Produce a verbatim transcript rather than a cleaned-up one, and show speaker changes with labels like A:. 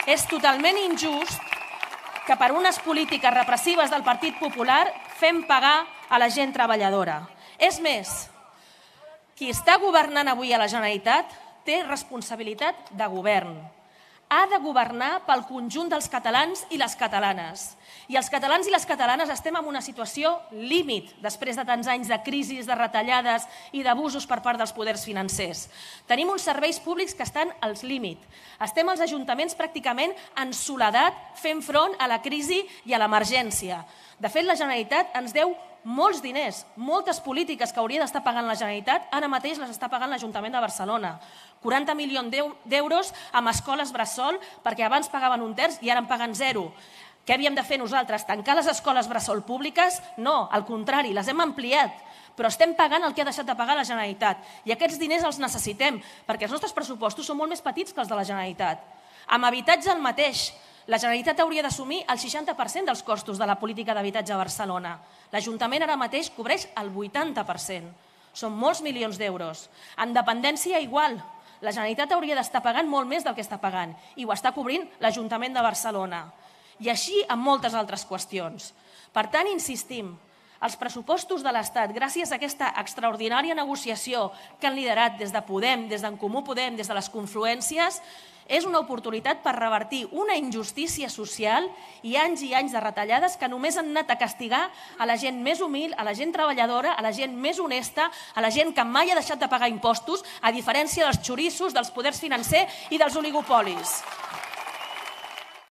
A: És totalment injust que per unes polítiques repressives del Partit Popular fem pagar a la gent treballadora. És més, qui està governant avui a la Generalitat té responsabilitat de govern. Ha de governar pel conjunt dels catalans i les catalanes. I els catalans i les catalanes estem en una situació límit després de tants anys de crisis, de retallades i d'abusos per part dels poders financers. Tenim uns serveis públics que estan als límits. Estem als ajuntaments pràcticament en soledat fent front a la crisi i a l'emergència. De fet, la Generalitat ens deu molts diners, moltes polítiques que hauria d'estar pagant la Generalitat, ara mateix les està pagant l'Ajuntament de Barcelona. quaranta milions d'euros amb escoles bressol, perquè abans pagaven un terç i ara en paguen zero. Què havíem de fer nosaltres? Tancar les escoles bressol públiques? No, al contrari, les hem ampliat. Però estem pagant el que ha deixat de pagar la Generalitat. I aquests diners els necessitem, perquè els nostres pressupostos són molt més petits que els de la Generalitat. Amb habitatge el mateix. La Generalitat hauria d'assumir el seixanta per cent dels costos de la política d'habitatge a Barcelona. L'Ajuntament ara mateix cobreix el vuitanta per cent. Són molts milions d'euros. En dependència igual. La Generalitat hauria d'estar pagant molt més del que està pagant i ho està cobrint l'Ajuntament de Barcelona. I així amb moltes altres qüestions. Per tant, insistim, els pressupostos de l'Estat, gràcies a aquesta extraordinària negociació que han liderat des de Podem, des d'en Comú Podem, des de les confluències, és una oportunitat per revertir una injustícia social i anys i anys de retallades que només han anat a castigar a la gent més humil, a la gent treballadora, a la gent més honesta, a la gent que mai ha deixat de pagar impostos, a diferència dels xoriços, dels poders financers i dels oligopolis.